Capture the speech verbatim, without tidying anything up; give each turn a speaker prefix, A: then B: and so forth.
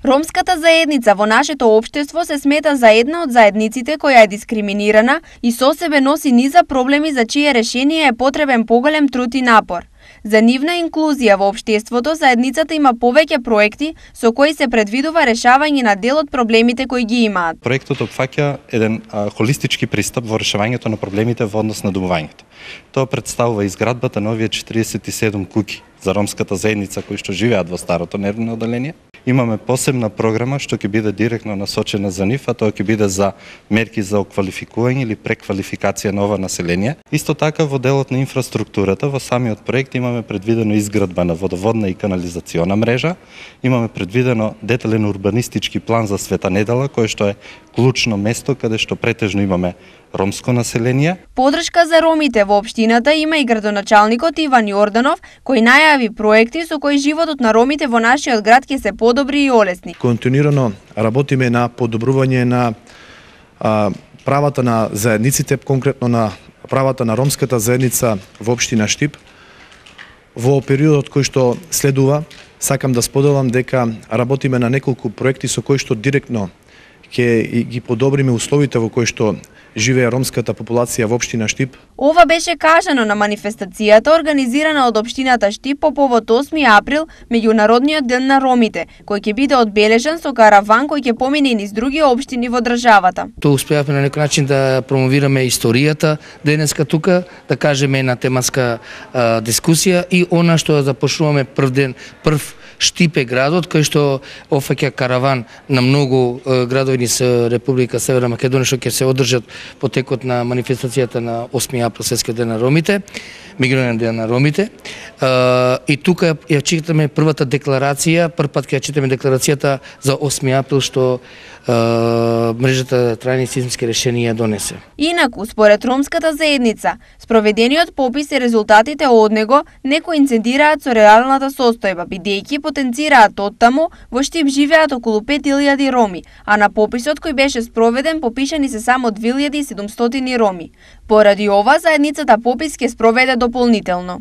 A: Ромската заедница во нашето општество се смета за една од заедниците која е дискриминирана и со себе носи низа проблеми за чие решение е потребен поголем труд и напор. За нивна инклузија во општеството, заедницата има повеќе проекти со кои се предвидува решавање на дел од проблемите кои ги имаат.
B: Проектот опфаќа еден а, холистички пристап во решавањето на проблемите во однос на домувањето. Тоа представува изградбата на овие четиридесет и седум куќи за ромската заедница кои што живеат во старото нервно одделение. Имаме посебна програма што ќе биде директно насочена за нив, а тоа ќе биде за мерки за оквалификување или преквалификација на ова население. Исто така во делот на инфраструктурата во самиот проект имаме предвидено изградба на водоводна и канализациона мрежа, имаме предвидено детален урбанистички план за Света Недела, кој што е клучно место каде што претежно имаме ромско население.
A: Подршка за ромите во општината има и градоначалникот Иван Јорданов, кој најави проекти со кои животот на ромите во нашиот град ќе се подобри и олесни.
C: Континуирано работиме на подобрување на а, правата на заедниците, конкретно на правата на ромската заедница во општина Штип. Во периодот кој што следува, сакам да споделам дека работиме на неколку проекти со кои што директно ќе ги подобриме условите во кои што живее ромската популација во општина Штип.
A: Ова беше кажано на манифестацијата организирана од општината Штип по повод осми април, меѓународниот ден на ромите, кој ќе биде одбележан со караван кој ќе помине и низ други општини во државата.
D: Тоа успеавме на некој начин да промовираме историјата денеска тука, да кажеме на тематска а, дискусија и она што започнуваме прв ден, прв Штип е градот кој што офаќа караван на многу е, градови низ Република Северна Македонија што ќе се одржат по текот на манифестацијата на осми април, Светскиот ден на ромите, меѓународен ден на ромите. Uh, и тука ја читаме првата декларација, прв пат ќе ја читаме декларацијата за осми април што uh, мрежата трајни системски решенија донесе.
A: Инаку, според ромската заедница, спроведениот попис и резултатите од него не коинцидираат со реалната состојба, бидејќи потенцираат оттаму во Штип живеат околу пет илјади роми, а на пописот кој беше спроведен попишани се само две илјади и седумстотини роми. Поради ова, заедницата попис ќе спроведе дополнително.